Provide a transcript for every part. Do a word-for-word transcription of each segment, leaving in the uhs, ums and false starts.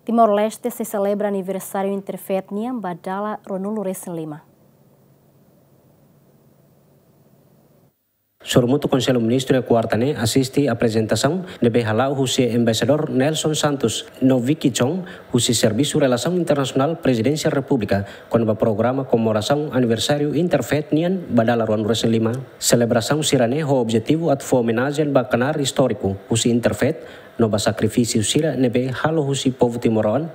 Timor-Leste sei selebra aniversáriu Interfaith nian ba dala ruanulu resin lima. Sorumutu Konsellu Ministru iha kuarta ne'e asiste aprezentasaun ne'ebé hala'o husi Embaixadór Nelson Santos no Vicky Chong, husi Servisu Relasaun Internasionál Prezidénsia Repúblika, kona-ba programa komemorasaun aniversáriu Interfaith nian ba dala ruanulu resin lima. Selebrasaun sira-ne'e ho objetivu atu fó omenajen ba knaar istóriku husi Interfaith no ba sakrifísiu sira ne'ebé halo husi povu timoroan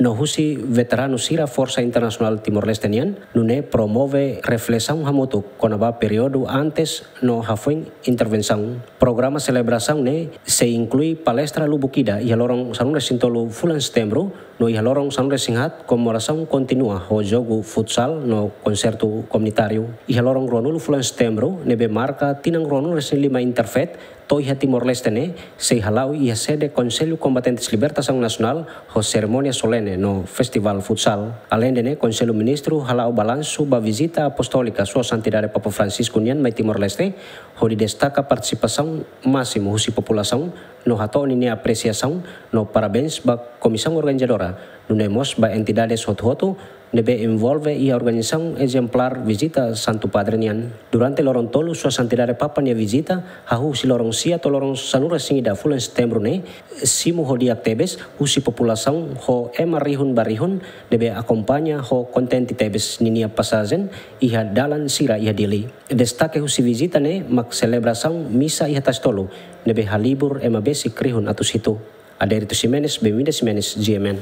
no husi veteranu sira Forsa Internasionál Timor-Leste nian, nune'e promove reflesaun hamutuk kona-ba períodu antes no hafoin intervensaun. Programa selebrasaun ne'e sei inklui palestra lubuk ida iha loron sanulu resin tolu fulan Setembru, no iha loron sanulu resin haat komemorasaun kontinua ho jogu futsal no konsertu komunitáriu. Iha loron ruanulu fulan Setembru, ne'ebé marka tinan ruanulu resin lima Interfaith to'o iha Timor-Leste ne'e, sei hala'o iha sede Konsellu Kombatentes Libertasaun Nasionál ho serimónia solene no festivál futsal. Aleinde ne'e, Konsellu Ministru hala'o balansu ba vizita apostólika Sua Santidade Papa Francisco nian mai Timor-Leste, hodi destaka partisipasaun másimu husi populasaun no hato'o ninia apresiasaun no parabéns ba komisaun organizadora, nune'e mós ba entidades hotu-hotu ne'ebé envolve iha organizasaun ezemplár vizita Santu Padre nian. Durante loron tolu Sua Santidade Papa nia vizita, hahú husi loron sia to'o loron sanulu resin ida fulan Setembru ne'e, simu ho di'ak tebes husi populasaun ho ema rihun ba rihun ne'ebé akompaña ho kontente tebes ninia pasajen iha dalan sira iha Dili. Destake husi vizita ne'e mak selebrasaun misa iha Tasitolu, ne'ebé halibur ema besik rihun atus hitu. Adérito Ximenes, Benvinda Ximenes, G M N.